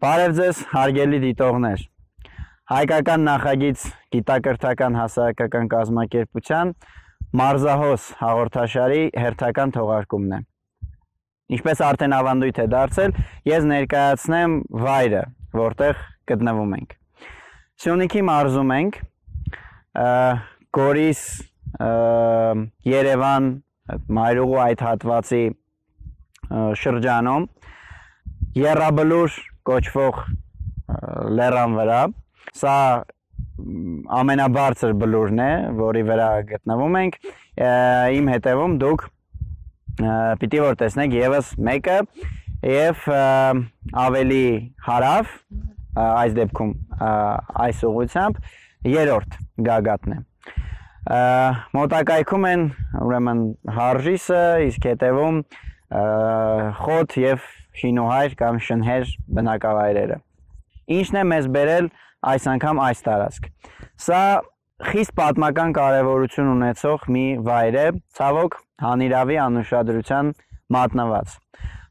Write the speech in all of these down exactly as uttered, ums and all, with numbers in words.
Բարև ձեզ, հարգելի դիտողներ։ Հայկական նախագիծ գիտակրթական հասարակական կազմակերպության Մարզահոս հաղորդաշարի հերթական թողարկումն է։ Ինչպես արդեն ավանդույթ է դարձել, ես ներկայացնեմ վայրը, որտեղ գտնվում ենք։ Սյունիքի մարզում ենք, Գորիս, Երևան, Մայրուղու այդ հատվածի շրջանում, Եռաբլուր կոչվող լեռան վրա, սա ամենաբարձր բլուրն է, որի վրա գտնվում ենք, իմ հետևում դուք պիտի որ տեսնեք ևս մեկը և ավելի հարավ, այս դեպքում այս ուղղությամբ երրորդ գագաթն է։ Մոտակայքում են ուրեմն Հարժիսը, իսկ հետևում Խոտ և Շինուհայր կամ Շնհեր բնակավայրերը։ Ինչն է մեզ բերել այս անգամ այս տարածք։ Սա խիստ պատմական կարևորություն ունեցող մի վայր է, ցավոք հանիրավի անուշադրության մատնված։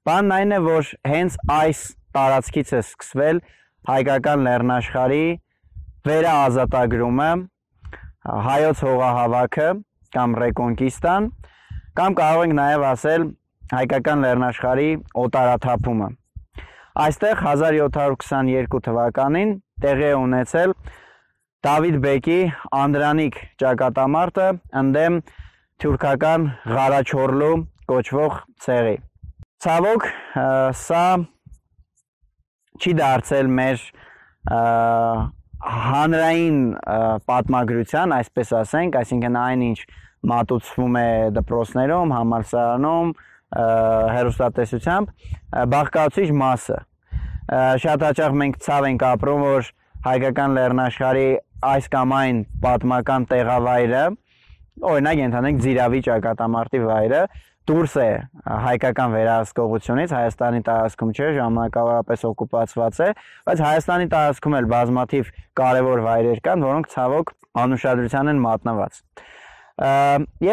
Բանն այն է, որ հենց այս տարածքից է սկսվել հայկական լեռնաշխարհի վերաազատագրումը, հայոց հողահավաքը կամ ռեկոնկիստան, կամ կարող ենք նաև ասել հայկական լեռնաշխարհի օտարաթափումը։ Այստեղ հազար յոթ հարյուր քսաներկու թվականին տեղի է ունեցել Դավիթ բեկի Անդրանիկ ճակատամարտը ընդդեմ թուրքական Ղարաչորլու կոչվող ցեղի։ Ցավոք, սա չի դարձել մեր հանրային պատմագրության, այսպես ասենք, այսինքն այն, ինչ մատուցվում է դպրոցներում, համալսարանում, հեռուստատեսությամբ, բաղկացուցիչ մասը։ Շատ հաճախ մենք ցավ ենք ապրում, որ հայկական լեռնաշխարհի այս կամ այն պատմական տեղավայրը, օրինակ ենթադրենք Ձիրավի ճակատամարտի վայրը, դուրս է հայկական վերահսկողությունից, Հայաստանի տարածքում չէ, ժամանակավորապես օկուպացված է, բայց Հայաստանի տարածքում էլ բազմաթիվ կարևոր վայրեր կան, որոնք ցավոք անուշադրության են մատնված։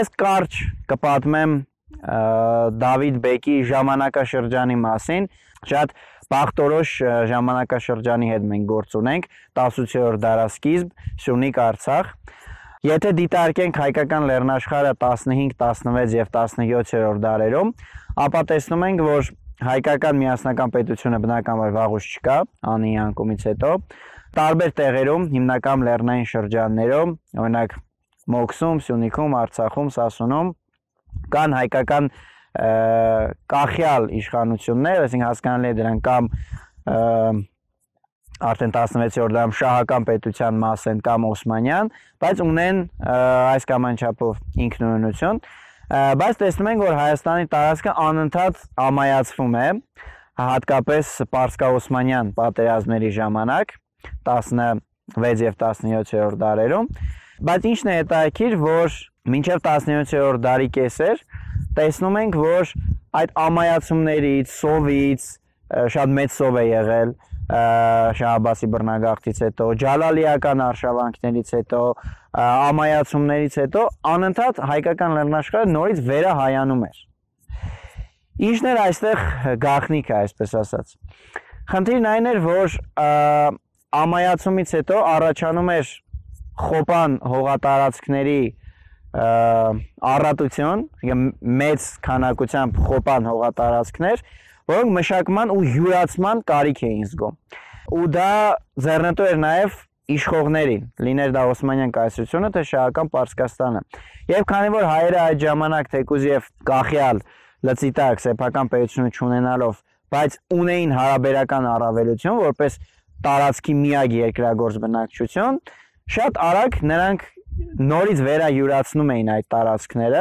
Ես կարճ կպատմեմ Դավիթ բեկի ժամանակաշրջանի մասին, շատ բախտորոշ ժամանակաշրջանի հետ մենք գործ ունենք, տասնութերորդ դարասկիզբ, Սյունիք, Արցախ։ Եթե դիտարկենք հայկական լեռնաշխարհը տասնհինգ, տասնվեց և տասնյոթերորդ դարերում, ապա տեսնում ենք, որ հայկական միասնական պետությունը բնականաբար վաղուց չկա, անի անկումից հետո, տարբեր տեղերում, հիմնական լեռնային շրջաններում, օրինակ Մոքսում, Սյունիքում, Արցախում, Սասունում, կան հայկական կախյալ իշխանություններ, այսինքն հասկանալի է դրանք կամ արդեն տասնվեցերորդ դարում շահական պետության մաս են կամ օսմանյան, բայց ունեն այս կամ այն չափով ինքնուրույնություն, բայց տեսնում ենք, որ Հայաստանի տարածքը անընդհատ ամայացվում է, հատկապես պարսկաօսմանյան պատերազմների ժամանակ, տասնվեց և տասնյոթերորդ դարերում, բայց ինչն է հետաքրքիր, որ մինչև տասնյոթերորդ դարի կեսեր տեսնում ենք, որ այդ ամայացումներից, սովից, շատ մեծ սով է եղել Շահ Աբբասի բռնագաղթից հետո, ջալալիական արշավանքներից հետո, ամայացումներից հետո, անընդհատ հայկական լեռնաշխարհը նորից վերահայանում էր։ Ինչն էր այստեղ գաղտնիքը, այսպես ասած։ Խնդիրն այն էր, որ ամայացումից հետո առաջանում էր խոպան հողատարածքների առատություն, մեծ քանակությամբ խոպան հողատարածքներ, որոնք մշակման ու յուրացման կարիք էին զգում։ Ու դա ձեռնտու էր նաև իշխողներին, լիներ դա Օսմանյան կայսրությունը, թե շահական Պարսկաստանը։ Եվ քանի որ հայերը այդ ժամանակ թեկուզ և կախյալ լծիտակ սեփական պետությունը չունենալով, բայց ունեին հարաբերական առավելություն, որպես տարածքի միակ երկրագործ բնակչություն, շատ արագ նրանք նորից վերայուրացնում էին այդ տարածքները,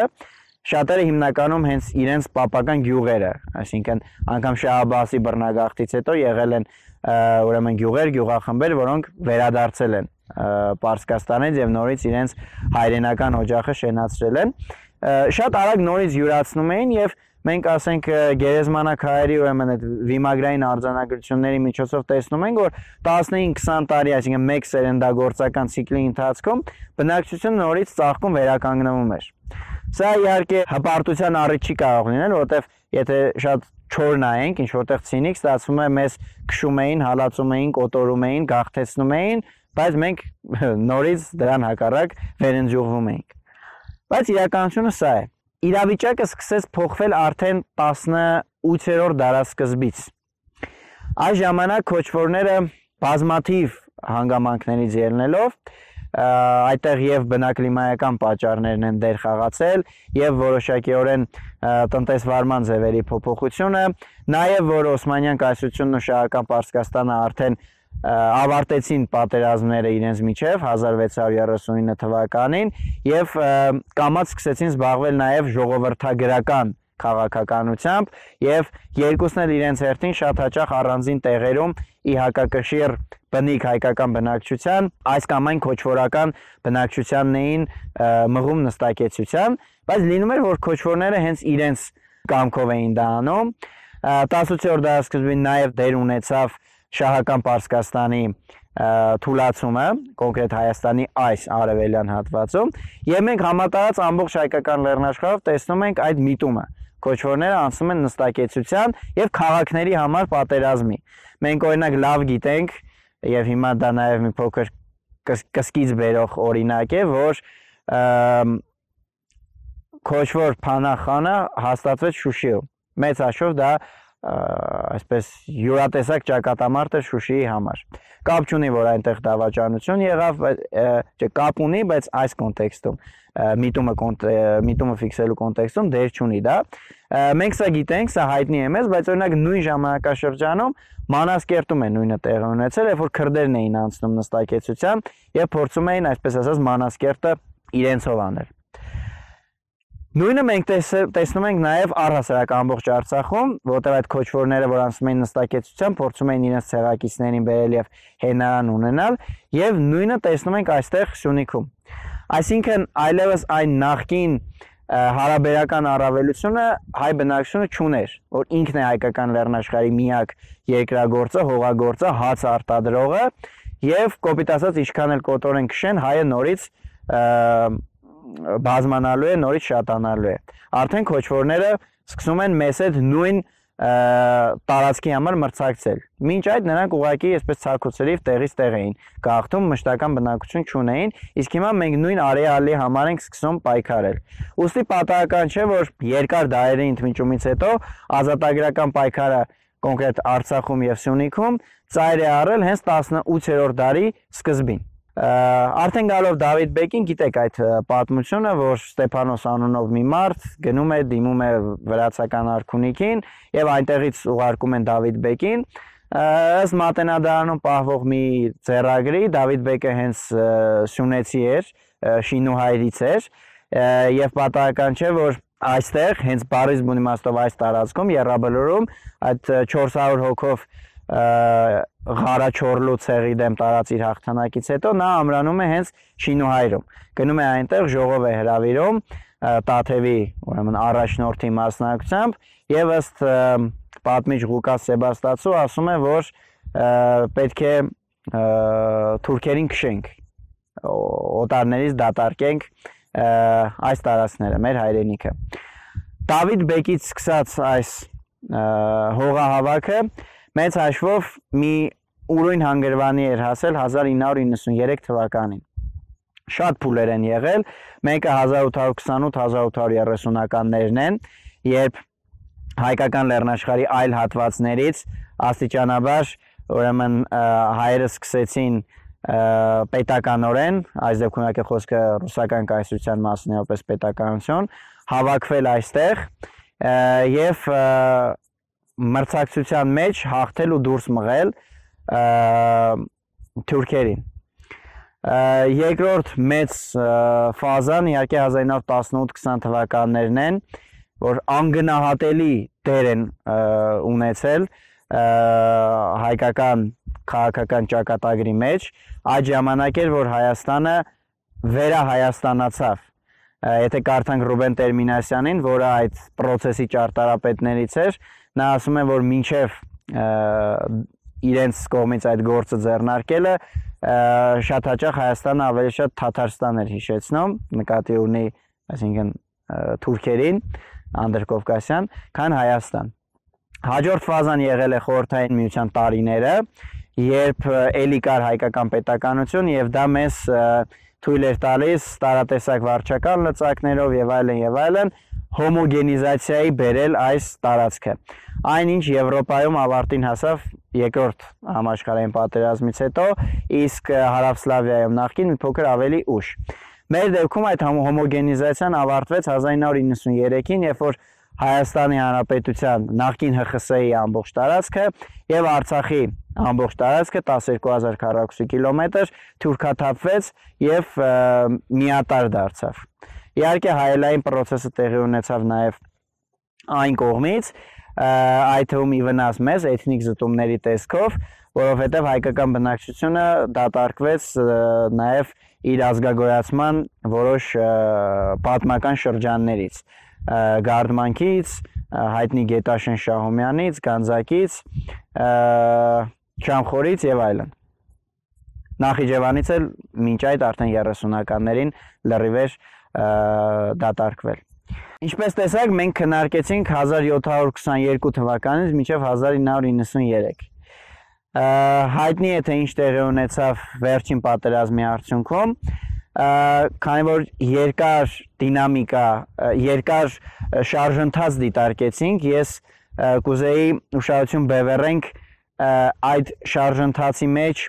շատերը հիմնականում հենց իրենց պապական գյուղերը, այսինքն անգամ Շահ Աբբասի բռնագաղթից հետո եղել են ուրեմն գյուղեր, գյուղախմբեր, որոնք վերադարձել են Պարսկաստանից և նորից իրենց հայրենական օջախը շենացրել են, շատ արագ նորից յուրացնում էին և մենք ասենք գերեզմանակ հայերի ուրեմն այդ վիմագրային արձանագրությունների միջոցով տեսնում ենք, որ տասնհինգ քսան տարի, այսինքն մեկ սերնդագործական ցիկլի ընթացքում բնակչությունը նորից ծաղկում վերականգնվում էր։ Սա իհարկե հպարտության առիթ չի կարող լինել, որովհետև եթե շատ չոր նայենք, ինչ որտեղ ցինիկ ստացվում է մեզ քշում էին, հալածում էին, կոտորում էին, գաղթեցնում էին, բայց մենք նորից դրան հակառակ վերընջուղվում էինք։ Բայց իրականությունը սա է։ Իրավիճակը սկսեց փոխվել արդեն տասնութերորդ դարասկզբից։ Այս ժամանակ քոչվորները բազմաթիվ հանգամանքներից ելնելով այդտեղ եւ բնակլիմայական պատճառներն են դեր խաղացել եւ որոշակիորեն տնտեսվարման ձևերի փոփոխությունը, նաեւ որ Օսմանյան կայսրությունն ու Շահական Պարսկաստանը արդեն ավարտեցին պատերազմները իրենց միջև հազար վեց հարյուր երեսունինը թվականին եւ կամաց սկսեցին զբաղվել նաեւ ժողովրդագրական քաղաքականությամբ եւ երկուսն էլ իրենց հերթին շատ հաճախ առանձին տեղերում ի հակակշիռ բնիկ հայկական բնակչության այս կամ այն քոչվորական բնակչությանն էին մղում նստակեցության, բայց լինում էր որ քոչվորները հենց իրենց կամքով էին դա անում։ տասնութերորդ դարասկզբին նաեւ դեր ունեցավ Շահական Պարսկաստանի թուլացումը, կոնկրետ Հայաստանի այս արևելյան հատվածում, եւ մենք համատարած ամբողջ հայկական լեռնաշխարհով տեսնում ենք այդ միտումը։ Քոչվորները անցնում են նստակեցության եւ քաղաքների համար պատերազմի։ Մենք օրինակ լավ գիտենք եւ հիմա դա նաեւ մի փոքր կսկիծ բերող օրինակ է, որ քոչվոր Փանախանը հաստատվեց Շուշիում։ Մեծ հաշվով դա այսպես յուրատեսակ ճակատամարտ էր Շուշիի համար։ Կապ չունի, որ այնտեղ դավաճանություն եղավ, չէ, կապ ունի, բայց այս կոնտեքստում միտումը միտումը ֆիքսելու կոնտեքստում դեր չունի դա։ Մենք սա գիտենք, սա հայտնի է մեզ, բայց օրինակ նույն ժամանակաշրջանում Մանասկերտում է նույնը տեղի ունեցել, երբ որ քրդերն էին անցնում նստակեցության եւ փորձում էին, այսպես ասած, Մանասկերտը իրենցով անել։ Նույնը մենք տեսնում ենք նաև առհասարակ ամբողջ Արցախում, որտեղ այդ քոչվորները, որ անցնում էին նստակեցության, փորձում էին իրենց ցեղակիցներին բերել եւ հենարան ունենալ, եւ նույնը տեսնում ենք այստեղ Սյունիքում։ Այսինքն այլևս այն նախկին հարաբերական առավելությունը հայ բնակչությունը չուներ, որ ինքն է հայկական լեռնաշխարհի միակ երկրագործը, հողագործը, հաց արտադրողը եւ կոպիտ ասած ինչքան էլ կոտորեն քշեն, հայը նորից բազմանալու է, նորից շատանալու է։ Արդեն քոչվորները սկսում են մեզ հետ նույն տարածքի համար մրցակցել։ Մինչ այդ նրանք ուղղակի այսպես ցակուցերիվ տեղից տեղ էին գաղթում, մշտական բնակություն չունեին, իսկ հիմա մենք նույն արեալի համար ենք սկսում պայքարել։ Ուստի պատահական չէ, որ երկար դարերի ընդմիջումից հետո ազատագրական պայքարը կոնկրետ Արցախում եւ Սյունիքում ծայր է առել հենց տասնութերորդ դարի սկզբին։ Արդեն գալով Դավիթ Բեկին, գիտեք այդ պատմությունը, որ Ստեփանոս անունով մի մարդ գնում է, դիմում է վրացական արքունիքին եւ այնտեղից ուղարկում են Դավիթ Բեկին։ Ըստ Մատենադարանում պահվող մի ձեռագրի Դավիթ Բեկը հենց սյունեցի էր, շինուհայրից էր եւ պատահական չէ, որ այստեղ հենց Բարիս բուն իմաստով այս տարածքում Եռաբլուրում այդ չորս հարյուր հոգով Ղարաչորլու ցեղի դեմ տարած իր հաղթանակից հետո նա ամրանում է հենց Շինուհայրում։ Գնում է այնտեղ ժողով է հրավիրում Տաթևի, ուրեմն առաջնորդի մասնակցությամբ եւ ըստ պատմիչ Ղուկաս Սեբաստացու ասում է, որ պետք է թուրքերին քշենք, օտարներից դատարկենք այս տարածքները, մեր հայրենիքը։ Դավիթ Բեկից սկսած այս հողահավաքը մեծ հաշվով մի ուրույն հանգրվանի էր հասել հազար ինը հարյուր իննսուներեք թվականին։ Շատ փուլեր են եղել, մեկը հազար ութ հարյուր քսանութ հազար ութ հարյուր երեսունականներն են, երբ հայկական լեռնաշխարհի այլ հատվածներից աստիճանաբար ուրեմն հայերը սկսեցին պետականորեն, այս դեպքում եկե խոսքը ռուսական կայսրության մասին է, որպես պետականություն, հավաքվել այստեղ եւ մրցակցության մեջ հաղթել ու դուրս մղել թուրքերին։ Երկրորդ մեծ ֆազան իհարկե հազար ինը հարյուր տասնութ քսան թվականներն են, որ անգնահատելի դեր են ունեցել հայկական քաղաքական ճակատագրի մեջ։ Այդ ժամանակ էր, որ Հայաստանը վերահայաստանացավ։ Եթե կարդանք Ռուբեն Տերմինասյանին, որը այդ process-ի ճարտարապետներից էր, նա ասում է, որ մինչև իրենց կողմից այդ գործը ձեռնարկելը շատ հաճախ Հայաստանը ավելի շատ Թաթարստան էր հիշեցնում, նկատի ունի, այսինքն թուրքերին, Անդրկովկասյան, քան Հայաստան։ Հաջորդ ֆազան եղել է խորհրդային միության տարիները, երբ էլի կար հայկական պետականություն եւ դա մեզ թույլ էր տալիս տարատեսակ վարչական լծակներով եւ այլն եւ այլն հոմոգենիզացիայի բերել այս տարածքը։ Այնինչ Եվրոպայում ավարտին հասավ երկրորդ համաշխարհային պատերազմից հետո, իսկ Հարավսլավիայում նախկին մի փոքր ավելի ուշ։ Մեր դեպքում այդ հոմոգենիզացիան ավարտվեց հազար ինը հարյուր նվաթ երեքին, երբ որ Հայաստանի Հանրապետության նախկին Հ Խ С-ի ամբողջ տարածքը եւ Արցախի ամբողջ տարածքը տասներկու հազար քառակուսի կիլոմետր թուրքաթափվեց եւ միատար դարձավ։ Իհարկե հայելային process-ը տեղի ունեցավ նաեւ այն կողմից, այդ թվում ի վնաս մեզ էթնիկ զտումների տեսքով, որովհետեւ հայկական բնակչությունը դատարկվեց նաեւ իր ազգագոյացման որոշ պատմական շրջաններից, Գարդմանքից, հայտնի Գետաշեն Շահումյանից, Գանձակից, Չամխորից եւ այլն։ Նախիջևանից էլ մինչ այդ արդեն երեսունականներին լրիվեր դատարկվել։ Ինչպես տեսակ, մենք քննարկեցինք հազար յոթ հարյուր քսաներկու թվականից մինչև հազար ինը հարյուր նվաթ երեք։ Հայտնի է թե ինչ տեղի ունեցավ վերջին պատերազմի արդյունքում, քանի որ երկար դինամիկա, երկար շարժընթաց դիտարկեցինք, ես կուզեի ուշադրություն բևեռենք այդ շարժընթացի մեջ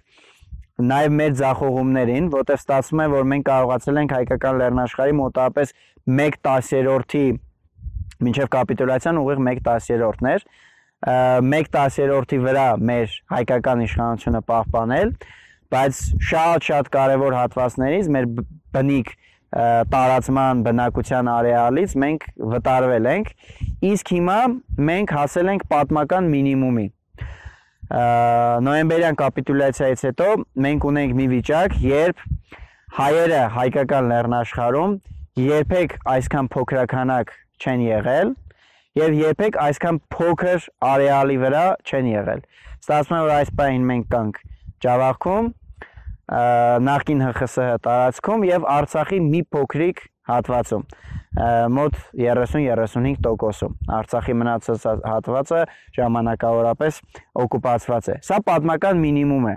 նաև մեր ձախողումներին, որտեղ ստացվում է, որ մենք կարողացել ենք հայկական լեռնաշխարհի մոտավորապես մեկ տասներորդի մինչև կապիտուլյացիան ուղիղ մեկ տասներորդներ, մեկ տասներորդի վրա մեր հայկական իշխանությունը պահպանել, բայց շատ-շատ կարևոր հատվածներից մեր բնիկ տարածման բնակության արեալից մենք վտարվել ենք, իսկ հիմա մենք հասել ենք պատմական մինիմումի։ Նոյեմբերյան կապիտուլյացիայից հետո մենք ունենք մի վիճակ, երբ հայերը հայկական լեռնաշխարհում երբեք այսքան փոքրականակ չեն եղել եւ երբեք այսքան փոքր արեալի վրա չեն եղել։ Ստացվում է, որ այս պահին մենք կանք Ջավախքում, նախկին Հ Խ С տարածքում եւ Արցախի մի փոքրիկ հատվածում, մոտ երեսուն երեսունհինգ տոկոսում։ Արցախի մնացած հատվածը ժամանակավորապես օկուպացված է։ Սա պատմական մինիմում է։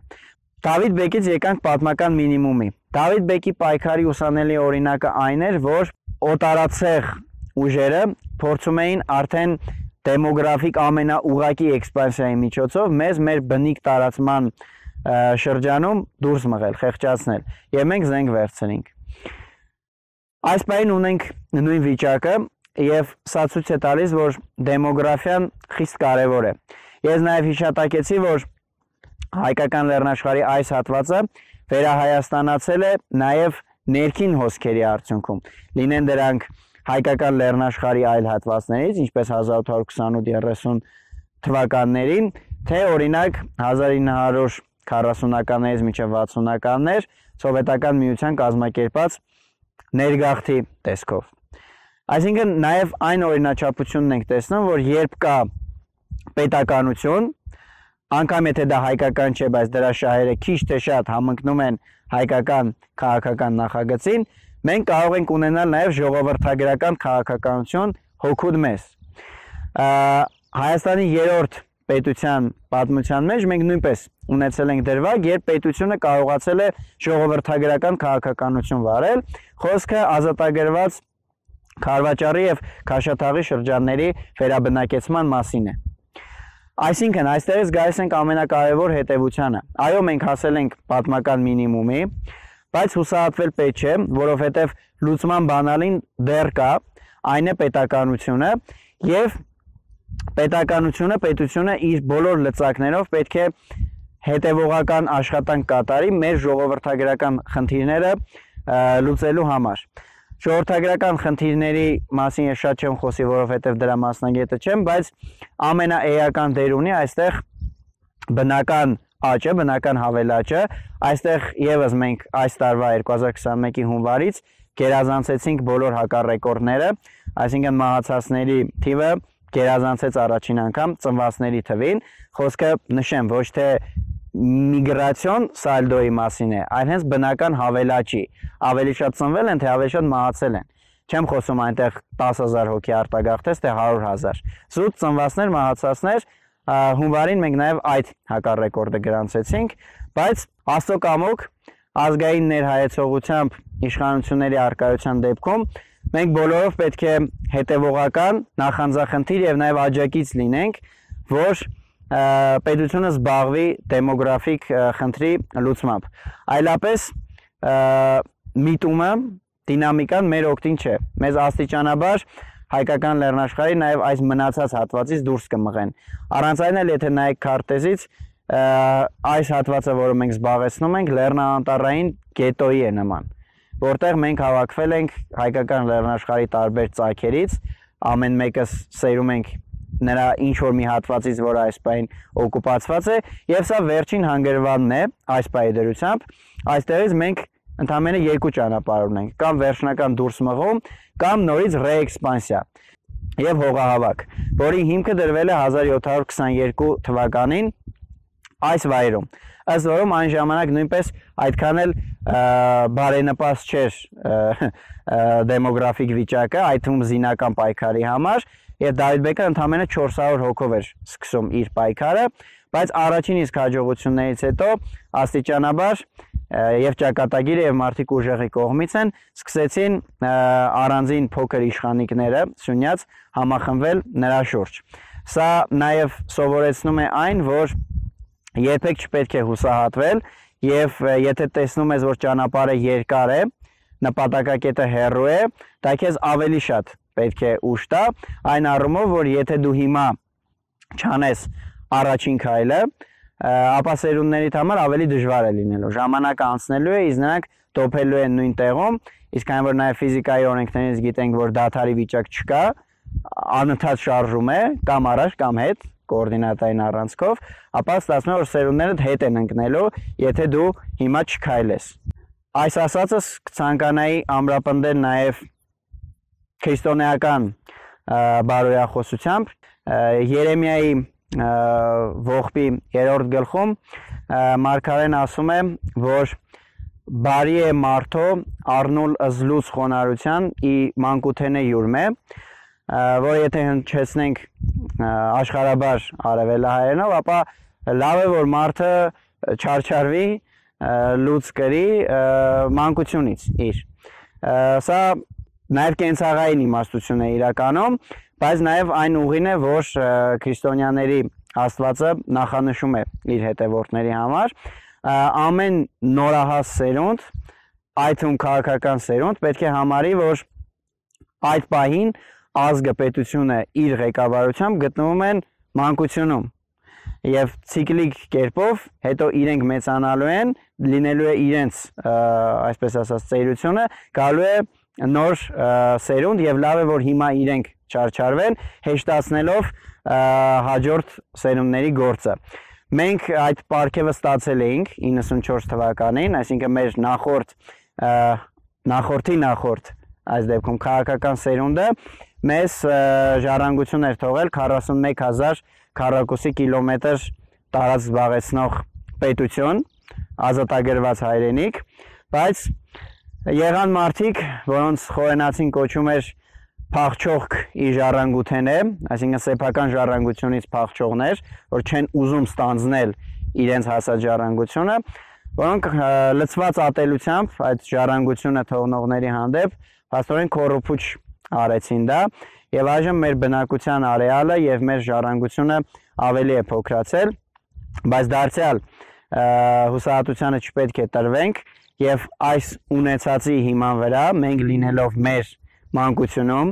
Դավիթ Բեկից եկանք պատմական մինիմումի։ Դավիթ Բեկի պայքարի ուսանելի օրինակը այն էր, որ օտարացեղ ուժերը փորձում էին արդեն դեմոգրաֆիկ ամենաուղղակի էքսպանսիայի միջոցով մեզ մեր բնիկ տարածման շրջանում դուրս մղել, խեղճացնել, եւ մենք զենք վերցնենք։ Այս պահին ունենք նույն վիճակը եւ սա ցույց է տալիս, որ դեմոգրաֆիան խիստ կարեւոր է։ Ես նաեւ հիշատակեցի, որ հայկական լեռնաշխարհի այս հատվածը վերահայաստանացել է նաեւ ներքին հոսքերի արդյունքում։ Լինեն դրանք հայկական լեռնաշխարհի այլ հատվածներից, ինչպես հազար ութ հարյուր քսանութ երեսուն թվականներին, թե օրինակ հազար ինը հարյուր քառասունականներից մինչև վաթսունականներ սովետական միության կազմակերպած ներգաղթի տեսքով։ Այսինքն նաև այն օրինաչափությունն ենք տեսնում, որ երբ կա պետականություն, անգամ եթե դա հայկական չէ, բայց դրա շահերը քիչ թե շատ համընկնում են հայկական քաղաքական նախագծին, մենք կարող ենք ունենալ նաև ժողովրդագրական քաղաքականություն հոգուտ մեզ։ Հայաստանի երրորդ պետության պատմության մեջ մենք նույնպես ունեցել ենք դրվագ, երբ պետությունը կարողացել է ժողովրդագրական քաղաքականություն վարել, խոսքը ազատագրված Քարվաճարի եւ Քաշաթաղի շրջանների վերաբնակեցման մասին է։ Այսինքն այստեղից գալիս ենք ամենակարևոր հետևությանը։ Այո, մենք հասել ենք պատմական մինիմումի, բայց հուսահատվել պետք չէ, որովհետեւ լուծման բանալին դեռ կա, այն է պետականությունը եւ պետականությունը, պետությունը իր բոլոր լծակներով պետք է հետևողական աշխատանք կատարի մեր ժողովրդագրական խնդիրները լուծելու համար։ Ժողովրդագրական խնդիրների մասին ես շատ չեմ խոսի, որովհետև դրա մասնագետը չեմ, բայց ամենաէական դեր ունի այստեղ բնական աճը, բնական հավելաճը։ Այստեղ եւս մենք այս տարվա երկու հազար քսանմեկի հունվարից գերազանցեցինք բոլոր հակառեկորդները, այսինքն մահացածների թիվը գերազանցեց առաջին անգամ ծնվածների թվին, խոսքը նշեմ ոչ թե միգրացիոն սալդոյի մասին է, այլ հենց բնական հավելաճի, ավելի շատ ծնվել են, թե ավելի շատ մահացել են։ Չեմ խոսում այնտեղ տասը հազար հոգի արտագաղթեց, թե հարյուր հազար։ Զուտ ծնվածներ, մահացածներ, հունվարին մենք նաև այդ հակառեկորդը գրանցեցինք, բայց Աստծո կամոք ազգային ներհայեցողությամբ իշխանությունների առկայության դեպքում մենք բոլորով պետք է հետևողական, նախանձախնդիր եւ նաև աջակից լինենք, որ պետությունը զբաղվի դեմոգրաֆիկ խնդրի լուծմամբ։ Այլապես միտումը, դինամիկան մեր օգտին չէ։ Մեզ աստիճանաբար հայկական լեռնաշխարհի նաև այս մնացած հատվածից դուրս կմղեն։ Առանց այն էլ եթե նայեք քարտեզից, այս հատվածը, որը մենք զբաղեցնում ենք, լեռնաանտառային գետոյի է նման, որտեղ մենք հավաքվել ենք հայկական լեռնաշխարհի տարբեր ծագերից, ամեն մեկս սերում ենք նրա ինչ որ մի հատվածից, որը այս պահին օկուպացված է, եւ սա վերջին հանգրվանն է այս պահի դրությամբ։ Այստեղից մենք ընդամենը երկու ճանապարհ ունենք, կամ վերջնական դուրս մղում, կամ նորից ռեէքսպանսիա եւ հողահավաք, որի հիմքը դրվել է հազար յոթ հարյուր քսաներկու թվականին այս վայրում։ Ըստ որում այն ժամանակ նույնպես այդքան էլ բարենպաստ չէր դեմոգրաֆիկ վիճակը, այդ թվում զինական պայքարի համար, եւ Դավիթ-բեկը ընդամենը չորս հարյուր հոգով էր սկսում իր պայքարը, բայց առաջին իսկ հաջողություններից հետո աստիճանաբար եւ ճակատագիրը եւ մարդիկ ուժեղի կողմից են սկսեցին առանձին փոքր իշխանիկները Սյունյաց համախմբվել նրա շուրջ։ Սա նաեւ սովորեցնում է այն, որ երբեք չպետք է հուսահատվել եւ եթե տեսնում ես, որ ճանապարհը երկար է, նպատակակետը հեռու է, դա քեզ ավելի շատ պետք է ուժ տա, այն առումով, որ եթե դու հիմա չանես առաջին քայլը, ապա սերունդներիդ համար ավելի դժվար է լինելու։ Ժամանակը անցնելու է, իսկ նրանք տոփելու են նույն տեղում, իսկ այն որ նաև ֆիզիկայի օրենքներից գիտենք, որ դադարի վիճակ չկա, անընդհատ շարժում է, կամ առաջ, կամ հետ, կոորդինատային առանցքով, ապա ստացվում է, որ սերունդներդ հետ են ընկնելու, եթե դու հիմա չքայլես։ Այս ասածս կցանկանայի ամրապնդել նաև քրիստոնեական բարոյախոսությամբ Երեմիայի ողբի երրորդ գլխում մարգարեն ասում է, որ բարի է մարդո առնուլ ըզլուց խոնարհության ի մանկութենե յուրմե, որ եթե հնչեցնենք աշխարհաբար արևելահայերենով, ապա լավ է, որ մարդը չարչարվի, լուծ կրի մանկությունից իր։ Սա նաև կենցաղային իմաստություն է իրականում, բայց նաև այն ուղին է, որ քրիստոնյաների Աստվածը նախանշում է իր հետևորդների համար, ամեն նորահաս սերունդ, այդ թվում քաղաքական սերունդ, պետք է համարի, որ այդ պահին ազգը, պետությունը իր ղեկավարությամբ գտնվում են մանկությունում եւ ցիկլիկ կերպով հետո իրենք մեծանալու են, լինելու է իրենց, այսպես ասած, ծերությունը, գալու է նոր սերունդ եւ լավ է, որ հիմա իրենք չարչարվեն, հեշտացնելով հաջորդ սերունդների գործը։ Մենք այդ պարգևը ստացել էինք իննսունչորս թվականին, այսինքն մեր նախորդ նախորդի նախորդ այս դեպքում քաղաքական սերունդը մեզ ժառանգություն էր թողել քառասունմեկ հազար քառակուսի կիլոմետր տարածք զբաղեցնող պետություն, ազատագրված հայրենիք, բայց եղան մարդիկ, որոնց խորենացին կոչում էր փախչող ի ժառանգութենե, այսինքն սեփական ժառանգությունից փախչողներ, որ չեն ուզում ստանձնել իրենց հասած ժառանգությունը, որոնք լցված ատելությամբ այդ ժառանգությունը թողնողների հանդեպ փաստորեն կոռուպուչ արեցին դա, եւ այժմ մեր բնակության արեալը եւ մեր ժառանգությունը ավելի է փոքրացել, բայց դարձյալ հուսահատությանը չպետք է տրվենք եւ այս ունեցածի հիման վրա մենք լինելով մեր մանկությունում,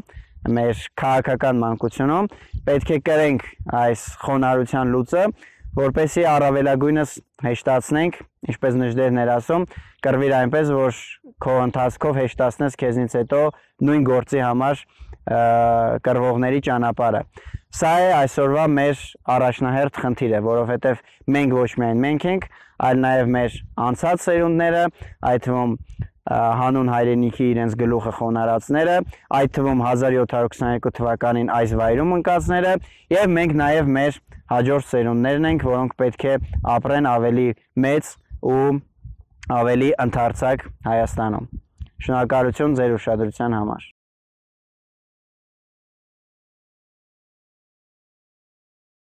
մեր քաղաքական մանկությունում պետք է կրենք այս խոնարհության լուծը, որպեսզի առավելագույնս հեշտացնենք, ինչպես նժդերն էր ասում, կռվիր այնպես, որ քո ընթացքով հեշտացնես քեզնից հետո նույն գործի համար կռվողների ճանապարհը։ Սա է այսօրվա մեր առաջնահերթ խնդիրը, որովհետև մենք ոչ միայն մենք ենք, այլ նաև մեր անցած սերունդները, այդ թվում հանուն հայրենիքի իրենց գլուխը խոնարհածները, այդ թվում հազար յոթ հարյուր քսաներկու թվականին այս վայրում ընկածները, եւ մենք նաև մեր հաջորդ սերունդներն ենք, որոնք պետք է ապրեն ավելի մեծ ու ավելի ընդարձակ Հայաստանում։ Շնորհակալություն ձեր ուշադրության համար։